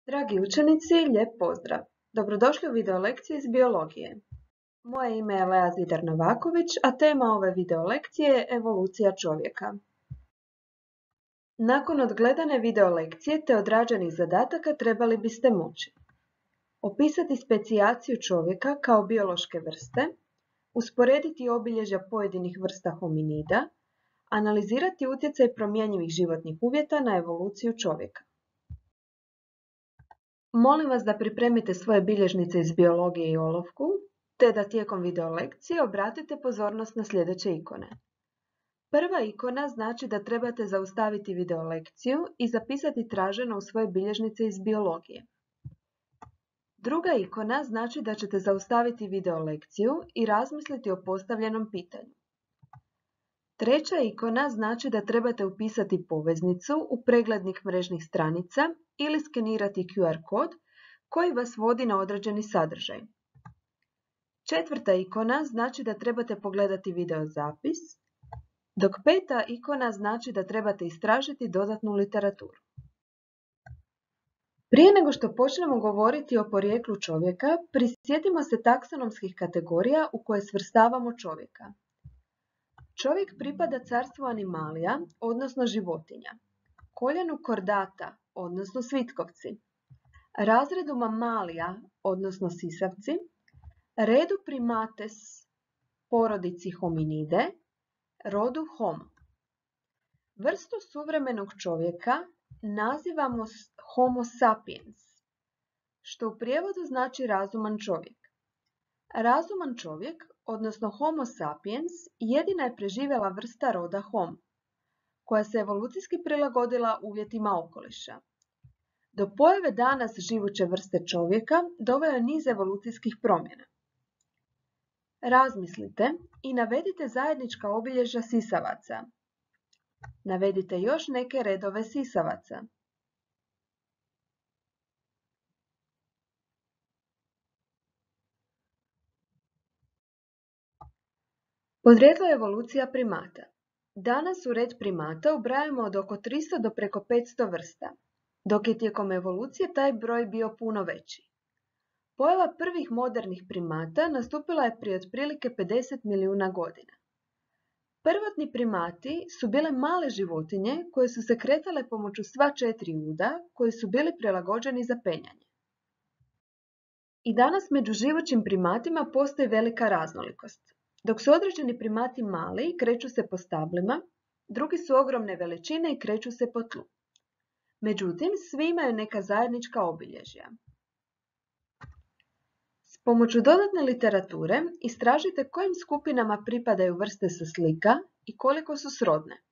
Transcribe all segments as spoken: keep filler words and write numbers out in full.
Dragi učenici, lijep pozdrav! Dobrodošli u video lekciju iz biologije. Moje ime je Lea Zidar Novaković, a tema ove video lekcije je evolucija čovjeka. Nakon odgledane video lekcije te odrađenih zadataka trebali biste moći opisati specijaciju čovjeka kao biološke vrste, usporediti obilježja pojedinih vrsta hominida, analizirati utjecaj promjenjivih životnih uvjeta na evoluciju čovjeka. Molim vas da pripremite svoje bilježnice iz biologije i olovku, te da tijekom video lekcije obratite pozornost na sljedeće ikone. Prva ikona znači da trebate zaustaviti video lekciju i zapisati traženo u svoje bilježnice iz biologije. Druga ikona znači da ćete zaustaviti video lekciju i razmisliti o postavljenom pitanju. Treća ikona znači da trebate upisati poveznicu u preglednik mrežnih stranica ili skenirati Q R kod koji vas vodi na određeni sadržaj. Četvrta ikona znači da trebate pogledati video zapis, dok peta ikona znači da trebate istražiti dodatnu literaturu. Prije nego što počnemo govoriti o porijeklu čovjeka, prisjetimo se taksonomskih kategorija u koje svrstavamo čovjeka. Čovjek pripada carstvu animalija, odnosno životinja, koljenu kordata, odnosno svitkovci, razredu mamalija, odnosno sisavci, redu primates, porodici hominide, rodu homo. Vrstu suvremenog čovjeka nazivamo homo sapiens, što u prijevodu znači razuman čovjek. Razuman čovjek, odnosno homo sapiens, jedina je preživjela vrsta roda homo, koja se evolucijski prilagodila uvjetima okoliša. Do pojave danas živuće vrste čovjeka doveo je niz evolucijskih promjena. Razmislite i navedite zajednička obilježja sisavaca. Navedite još neke redove sisavaca. Podrijetlo evolucija primata. Danas u red primata ubrajamo od oko tristo do preko petsto vrsta, dok je tijekom evolucije taj broj bio puno veći. Pojava prvih modernih primata nastupila je prije otprilike pedeset milijuna godina. Prvotni primati su bile male životinje koje su se kretale pomoću sva četiri uda koji su bili prilagođeni za penjanje. I danas među živućim primatima postoji velika raznolikost. Dok su određeni primati mali i kreću se po stablima, drugi su ogromne veličine i kreću se po tlu. Međutim, svi imaju neka zajednička obilježja. S pomoću dodatne literature istražite kojim skupinama pripadaju vrste sa slika i koliko su srodne.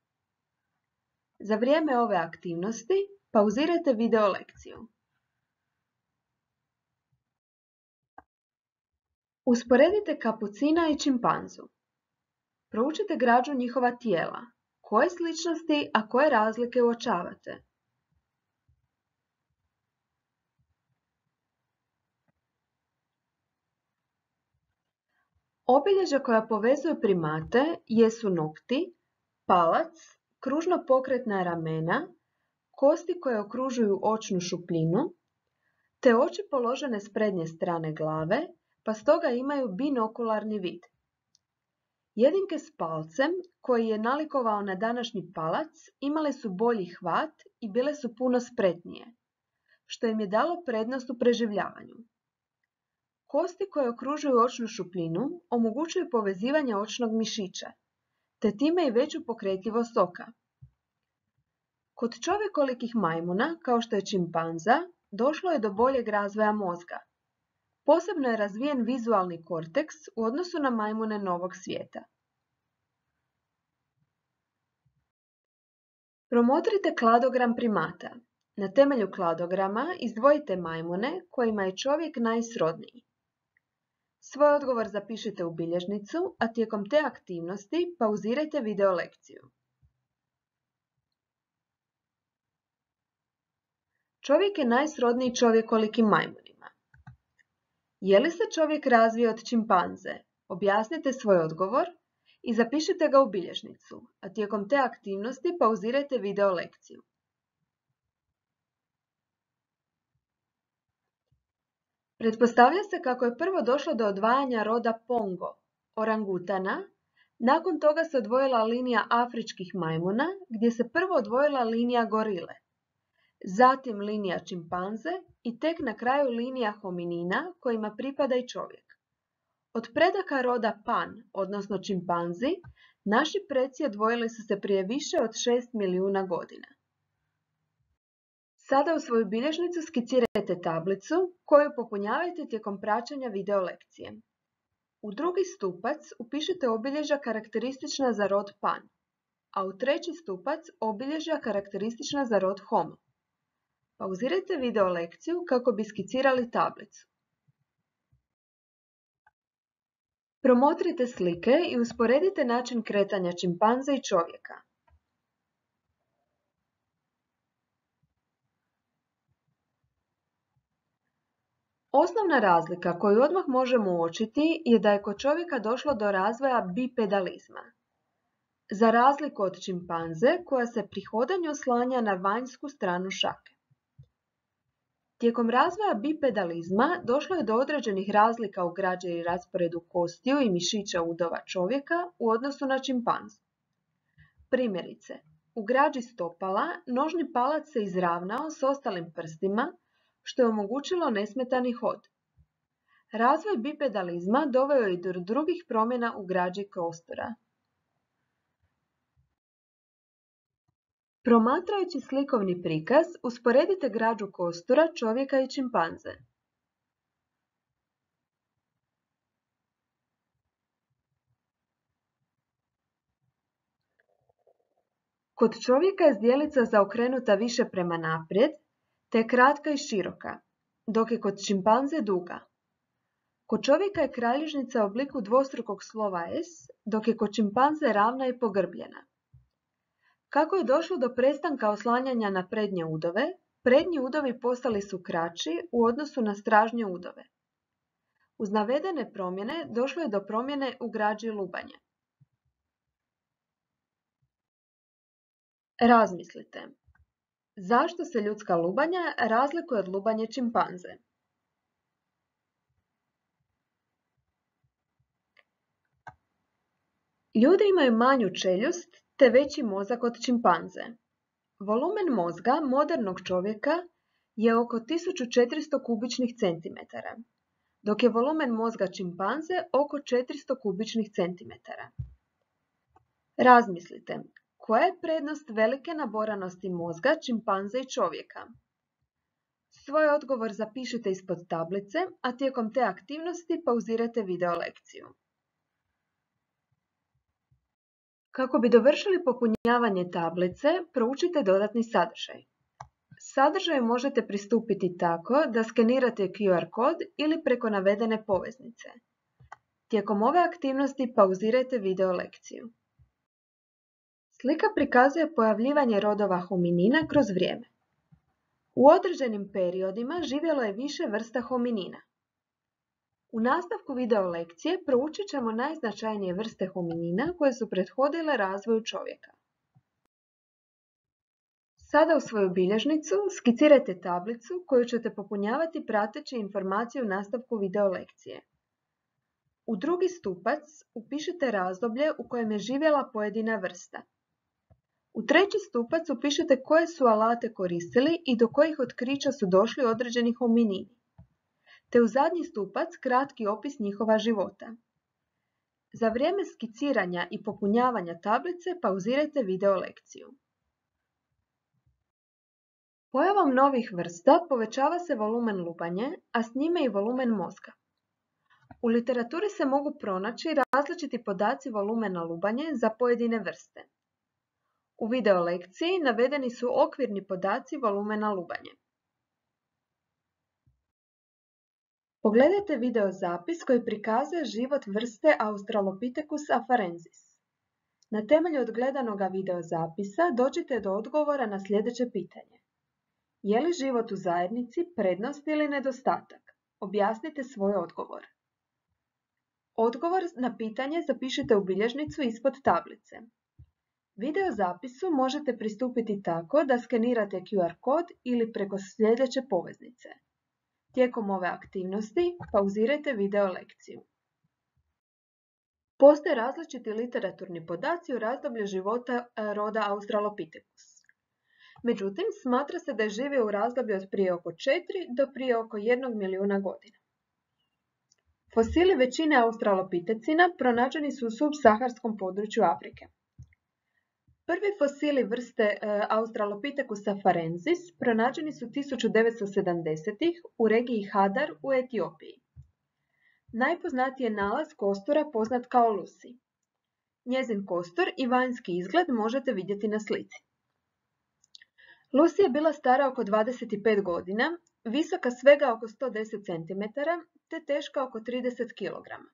Za vrijeme ove aktivnosti pauzirajte video lekciju. Usporedite kapucina i čimpanzu. Proučite građu njihova tijela. Koje sličnosti, a koje razlike uočavate? Obilježja koja povezuju primate jesu nokti, palac, kružno pokretna ramena, kosti koje okružuju očnu šupljinu, te oči položene s prednje strane glave, pa stoga imaju binokularni vid. Jedinke s palcem, koji je nalikovao na današnji palac, imale su bolji hvat i bile su puno spretnije, što im je dalo prednost u preživljavanju. Kosti koje okružuju očnu šupljinu omogućuju povezivanje očnog mišića, te time i veću pokretljivost oka. Kod čovjekolikih majmuna, kao što je čimpanza, došlo je do boljeg razvoja mozga. Posebno je razvijen vizualni korteks u odnosu na majmune novog svijeta. Promotrite kladogram primata. Na temelju kladograma izdvojite majmune kojima je čovjek najsrodniji. Svoj odgovor zapišite u bilježnicu, a tijekom te aktivnosti pauzirajte video lekciju. Čovjek je najsrodniji čovjekolikim majmunima. Je li se čovjek razvio od čimpanze? Objasnite svoj odgovor i zapišite ga u bilježnicu, a tijekom te aktivnosti pauzirajte video lekciju. Pretpostavlja se kako je prvo došlo do odvajanja roda Pongo, orangutana, nakon toga se odvojila linija afričkih majmuna, gdje se prvo odvojila linija gorile, zatim linija čimpanze i tek na kraju linija hominina kojima pripada i čovjek. Od predaka roda Pan, odnosno čimpanzi, naši preci odvojili su se prije više od šest milijuna godina. Sada u svoju bilježnicu skicirajte tablicu koju popunjavajte tijekom praćenja video lekcije. U drugi stupac upišite obilježja karakteristična za rod Pan, a u treći stupac obilježja karakteristična za rod Homo. Pauzirajte video lekciju kako bi skicirali tablicu. Promotrite slike i usporedite način kretanja čimpanze i čovjeka. Osnovna razlika koju odmah možemo uočiti je da je kod čovjeka došlo do razvoja bipedalizma. Za razliku od čimpanze koja se pri hodanju oslanja na vanjsku stranu šake. Tijekom razvoja bipedalizma došlo je do određenih razlika u građi i rasporedu kostiju i mišića udova čovjeka u odnosu na čimpanzu. Primjerice, u građi stopala nožni palac se izravnao s ostalim prstima, što je omogućilo nesmetani hod. Razvoj bipedalizma doveo je i do drugih promjena u građi kostura. Promatrajući slikovni prikaz, usporedite građu kostura čovjeka i čimpanze. Kod čovjeka je zdjelica zaokrenuta više prema naprijed, te je kratka i široka, dok je kod čimpanze duga. Kod čovjeka je kralježnica u obliku dvostrukog slova S, dok je kod čimpanze ravna i pogrbljena. Kako je došlo do prestanka oslanjanja na prednje udove, prednji udovi postali su kraći u odnosu na stražnje udove. Uz navedene promjene došlo je do promjene u građi lubanje. Razmislite. Zašto se ljudska lubanja razlikuje od lubanje čimpanze? Ljudi imaju manju čeljust te veći mozak od čimpanze. Volumen mozga modernog čovjeka je oko tisuću četiristo kubičnih centimetara, dok je volumen mozga čimpanze oko četiristo kubičnih centimetara. Razmislite, koja je prednost velike naboranosti mozga čimpanze i čovjeka? Svoj odgovor zapišite ispod tablice, a tijekom te aktivnosti pauzirajte video lekciju. Kako bi dovršili popunjavanje tablice, proučite dodatni sadržaj. Sadržaju možete pristupiti tako da skenirate Q R kod ili preko navedene poveznice. Tijekom ove aktivnosti pauzirajte video lekciju. Slika prikazuje pojavljivanje rodova hominina kroz vrijeme. U određenim periodima živjelo je više vrsta hominina. U nastavku video lekcije proučit ćemo najznačajnije vrste hominina koje su prethodile razvoju čovjeka. Sada u svoju bilježnicu skicirajte tablicu koju ćete popunjavati prateći informaciju u nastavku video lekcije. U drugi stupac upišite razdoblje u kojem je živjela pojedina vrsta. U treći stupac upišite koje su alate koristili i do kojih otkrića su došli određeni hominini, te u zadnji stupac kratki opis njihova života. Za vrijeme skiciranja i popunjavanja tablice pauzirajte video lekciju. Pojavom novih vrsta povećava se volumen lubanje, a s njime i volumen mozga. U literaturi se mogu pronaći različiti podaci volumena lubanje za pojedine vrste. U video lekciji navedeni su okvirni podaci volumena lubanje. Pogledajte video zapis koji prikazuje život vrste Australopithecus afarensis. Na temelju odgledanoga video zapisa dođite do odgovora na sljedeće pitanje. Je li život u zajednici prednost ili nedostatak? Objasnite svoj odgovor. Odgovor na pitanje zapišite u bilježnicu ispod tablice. Video zapisu možete pristupiti tako da skenirate Q R kod ili preko sljedeće poveznice. Tijekom ove aktivnosti pauzirajte video lekciju. Postoje različiti literaturni podaci u razdoblju života roda Australopithecus. Međutim, smatra se da je živio u razdoblju od prije oko četiri do prije oko jednog milijuna godina. Fosili većine australopitecina pronađeni su u subsaharskom području Afrike. Prvi fosili vrste Australopithecus afarensis pronađeni su tisuću devetsto sedamdesetih u regiji Hadar u Etiopiji. Najpoznatiji je nalaz kostura poznat kao Lucy. Njezin kostur i vanjski izgled možete vidjeti na slici. Lucy je bila stara oko dvadeset pet godina, visoka svega oko sto deset centimetara te teška oko trideset kilograma.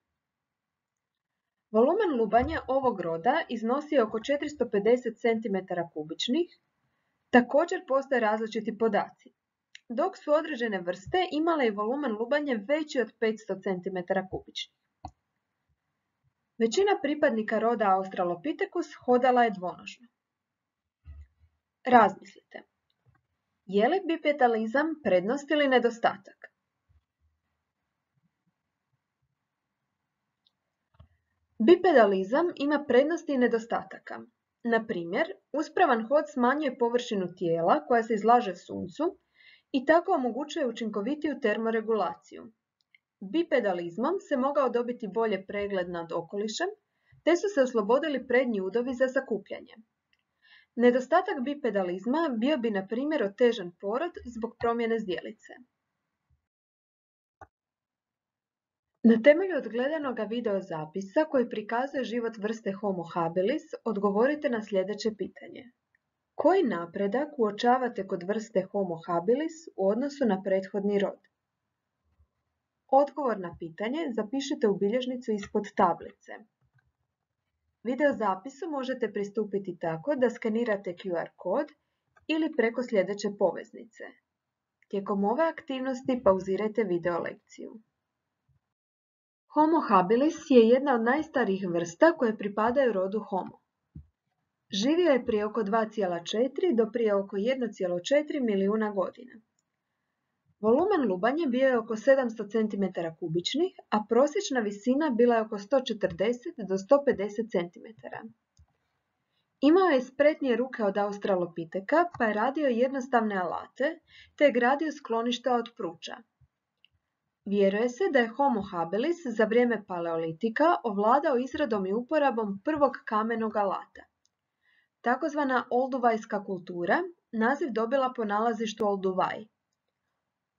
Volumen lubanja ovog roda iznosi oko četiristo pedeset centimetara kubičnih. Također postoje različiti podaci, dok su određene vrste imale i volumen lubanja veći od petsto centimetara kubičnih. Većina pripadnika roda Australopithecus hodala je dvonožno. Razmislite. Je li bipedalizam prednost ili nedostatak? Bipedalizam ima prednosti i nedostataka. Na primjer, uspravan hod smanjuje površinu tijela koja se izlaže suncu i tako omogućuje učinkovitiju termoregulaciju. Bipedalizmom se mogao dobiti bolje pregled nad okolišem, te su se oslobodili prednji udovi za sakupljanje. Nedostatak bipedalizma bio bi na primjer otežan porod zbog promjene zdjelice. Na temelju odgledanoga videozapisa koji prikazuje život vrste Homo habilis, odgovorite na sljedeće pitanje. Koji napredak uočavate kod vrste Homo habilis u odnosu na prethodni rod? Odgovor na pitanje zapišite u bilježnicu ispod tablice. Videozapisu možete pristupiti tako da skenirate Q R kod ili preko sljedeće poveznice. Tijekom ove aktivnosti pauzirajte video lekciju. Homo habilis je jedna od najstarijih vrsta koje pripadaju rodu Homo. Živio je prije oko dva zarez četiri do prije oko jedan zarez četiri milijuna godina. Volumen lubanja bio je oko sedamsto centimetara kubičnih, a prosječna visina bila je oko sto četrdeset do sto pedeset centimetara. Imao je spretnije ruke od Australopiteka, pa je radio jednostavne alate, te je gradio skloništa od pruča. Vjeruje se da je Homo habilis za vrijeme paleolitika ovladao izradom i uporabom prvog kamenog alata. Takozvana olduvajska kultura naziv dobila po nalazištu Olduvaj.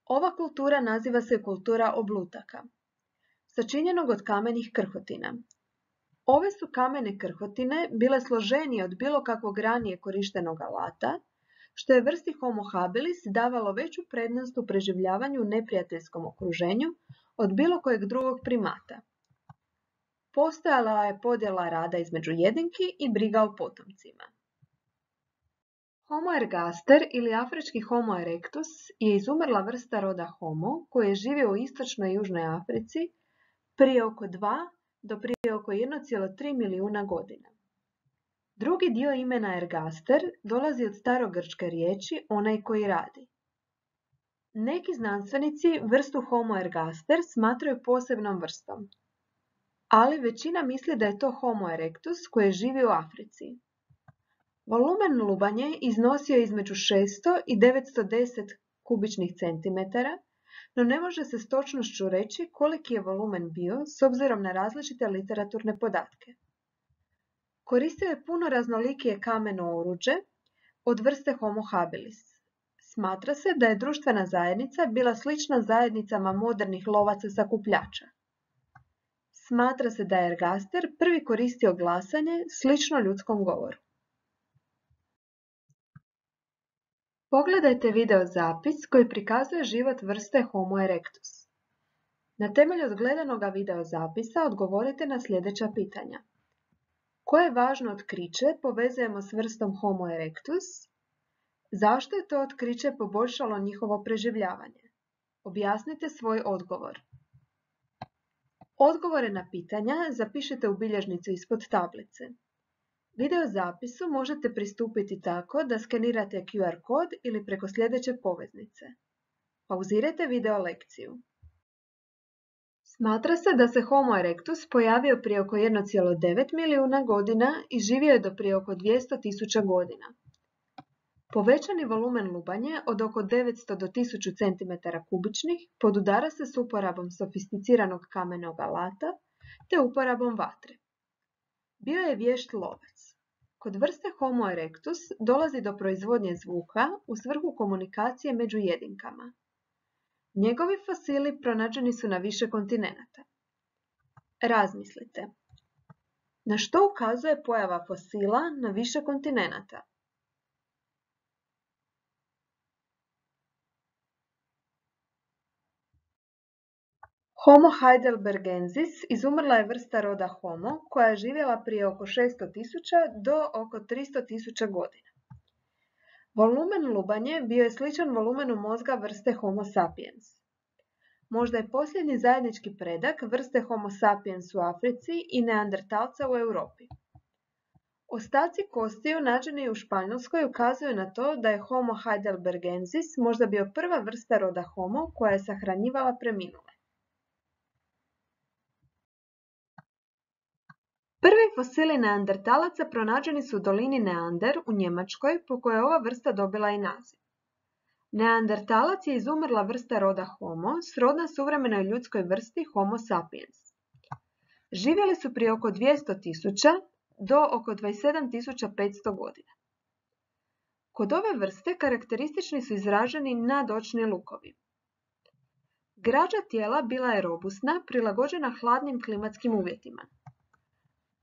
Ova kultura naziva se kultura oblutaka, sačinjenog od kamenih krhotina. Ove su kamene krhotine bile složenije od bilo kakvog ranije korištenog alata, što je vrsti Homo habilis davalo veću prednost u preživljavanju u neprijateljskom okruženju od bilo kojeg drugog primata. Postojala je podjela rada između jedinki i briga o potomcima. Homo ergaster ili afrički Homo erectus je izumrla vrsta roda Homo koji je živio u istočnoj i južnoj Africi prije oko dva do prije oko jedan zarez tri milijuna godina. Drugi dio imena ergaster dolazi od starogrčke riječi onaj koji radi. Neki znanstvenici vrstu Homo ergaster smatraju posebnom vrstom, ali većina misli da je to Homo erectus koji je živio u Africi. Volumen lubanje iznosio je između šesto i devetsto deset kubičnih centimetara, no ne može se s točnošću reći koliki je volumen bio s obzirom na različite literaturne podatke. Koristio je puno raznolikije kameno oruđe od vrste Homo habilis. Smatra se da je društvena zajednica bila slična zajednicama modernih lovaca sakupljača. Smatra se da je ergaster prvi koristio glasanje slično ljudskom govoru. Pogledajte videozapis koji prikazuje život vrste Homo erectus. Na temelju odgledanoga videozapisa odgovorite na sljedeća pitanja. Koje važno otkriće povezujemo s vrstom Homo erectus? Zašto je to otkriće poboljšalo njihovo preživljavanje? Objasnite svoj odgovor. Odgovore na pitanja zapišite u bilježnicu ispod tablice. Videozapisu možete pristupiti tako da skenirate Q R kod ili preko sljedeće poveznice. Pauzirajte video lekciju. Smatra se da se Homo erectus pojavio prije oko jedan zarez devet milijuna godina i živio je do prije oko dvjesto tisuća godina. Povećani volumen lubanje od oko devetsto do tisuću centimetara kubičnih podudara se s uporabom sofisticiranog kamenog alata te uporabom vatre. Bio je vješt lovac. Kod vrste Homo erectus dolazi do proizvodnje zvuka u svrhu komunikacije među jedinkama. Njegovi fosili pronađeni su na više kontinenata. Razmislite. Na što ukazuje pojava fosila na više kontinenata? Homo heidelbergensis izumrla je vrsta roda Homo koja je živjela prije oko šesto tisuća do oko tristo tisuća godina. Volumen lubanje bio je sličan volumenu mozga vrste Homo sapiens. Možda je posljednji zajednički predak vrste Homo sapiens u Africi i neandertalca u Europi. Ostaci kostiju nađeni u Španjolskoj ukazuju na to da je Homo heidelbergensis možda bio prva vrsta roda Homo koja je sahranjivala preminule. Prvi fosili neandertalaca pronađeni su u dolini Neander u Njemačkoj, po kojoj je ova vrsta dobila i naziv. Neandertalac je izumrla vrsta roda Homo, srodna suvremenoj ljudskoj vrsti Homo sapiens. Živjeli su prije oko dvjesto tisuća do oko dvadeset sedam tisuća petsto godina. Kod ove vrste karakteristični su izraženi nadočni lukovi. Građa tijela bila je robusna, prilagođena hladnim klimatskim uvjetima.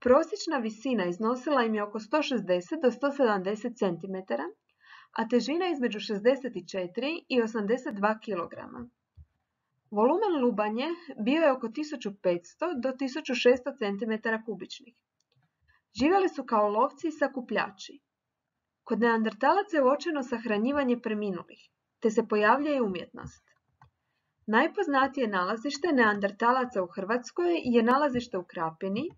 Prosječna visina iznosila im je oko sto šezdeset do sto sedamdeset centimetara, a težina između šezdeset četiri i osamdeset dva kilograma. Volumen lubanje bio je oko tisuću petsto do tisuću šesto centimetara kubičnih. Živjeli su kao lovci i sakupljači. Kod neandertalaca je uočeno sahranjivanje preminulih, te se pojavljuje i umjetnost. Najpoznatije nalazište neandertalaca u Hrvatskoj je nalazište u Krapini,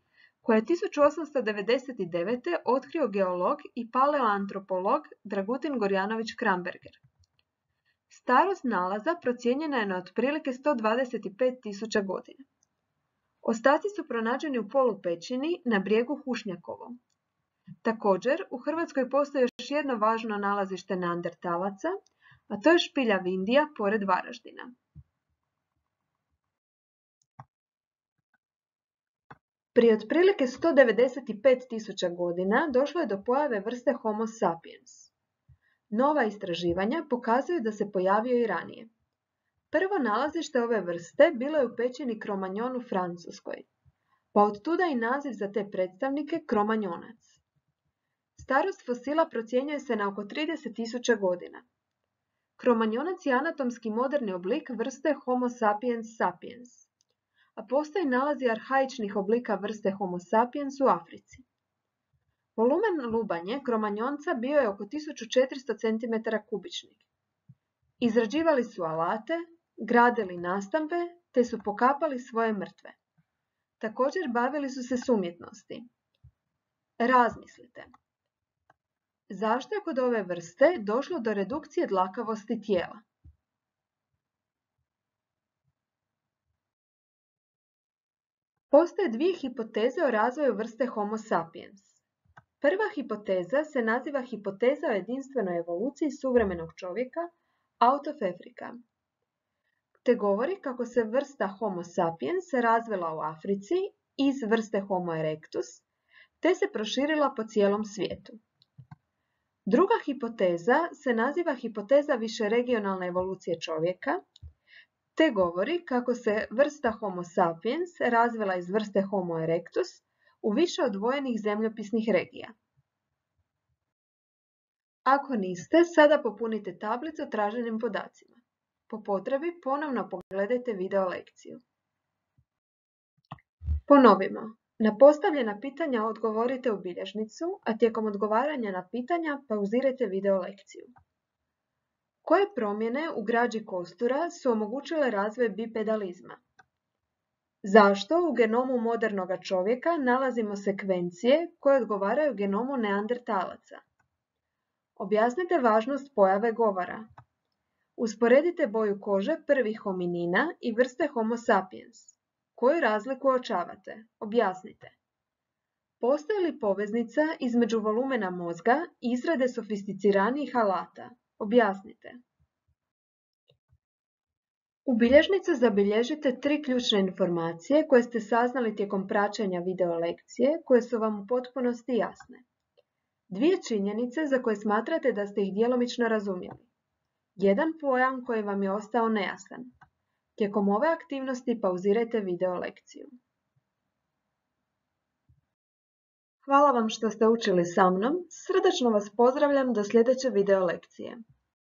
koje je tisuću osamsto devedeset devete. otkrio geolog i paleoantropolog Dragutin Gorjanović Kramberger. Starost nalaza procijenjena je na otprilike sto dvadeset pet tisuća godina. Ostaci su pronađeni u polupećini na brijegu Hušnjakovom. Također, u Hrvatskoj postoji još jedno važno nalazište neandertalaca, a to je špilja Vindija pored Varaždina. Prije otprilike sto devedeset pet tisuća godina došlo je do pojave vrste Homo sapiens. Nova istraživanja pokazuju da se pojavio i ranije. Prvo nalazište ove vrste bilo je u pećini Cro-Magnon u Francuskoj, pa ottuda i naziv za te predstavnike Cro-Magnonac. Starost fosila procjenjuje se na oko trideset tisuća godina. Cro-Magnonac je anatomski moderni oblik vrste Homo sapiens sapiens, a postoji nalazi arhaičnih oblika vrste Homo sapiens u Africi. Volumen lubanje Cro-Magnonca bio je oko tisuću četiristo centimetara kubičnih. Izrađivali su alate, gradili nastambe, te su pokapali svoje mrtve. Također bavili su se s umjetnosti. Razmislite. Zašto je kod ove vrste došlo do redukcije dlakavosti tijela? Postoje dvije hipoteze o razvoju vrste Homo sapiens. Prva hipoteza se naziva hipoteza o jedinstvenoj evoluciji suvremenog čovjeka, out of Africa, te govori kako se vrsta Homo sapiens razvila u Africi iz vrste Homo erectus, te se proširila po cijelom svijetu. Druga hipoteza se naziva hipoteza višeregionalne evolucije čovjeka, te govori kako se vrsta Homo sapiens razvila iz vrste Homo erectus u više odvojenih zemljopisnih regija. Ako niste, sada popunite tablicu traženim podacima. Po potrebi ponovno pogledajte video lekciju. Ponovimo. Na postavljena pitanja odgovorite u bilježnicu, a tijekom odgovaranja na pitanja pauzirajte video lekciju. Koje promjene u građi kostura su omogućile razvoj bipedalizma? Zašto u genomu modernog čovjeka nalazimo sekvencije koje odgovaraju genomu neandertalaca? Objasnite važnost pojave govora. Usporedite boju kože prvih hominina i vrste Homo sapiens. Koju razliku uočavate? Objasnite. Postoji li poveznica između volumena mozga i izrade sofisticiranijih alata? Objasnite. U bilježnicu zabilježite tri ključne informacije koje ste saznali tijekom praćenja video lekcije, koje su vam u potpunosti jasne. Dvije činjenice za koje smatrate da ste ih djelomično razumjeli. Jedan pojam koji vam je ostao nejasan. Tijekom ove aktivnosti pauzirajte video lekciju. Hvala vam što ste učili sa mnom. Srdačno vas pozdravljam do sljedeće video lekcije.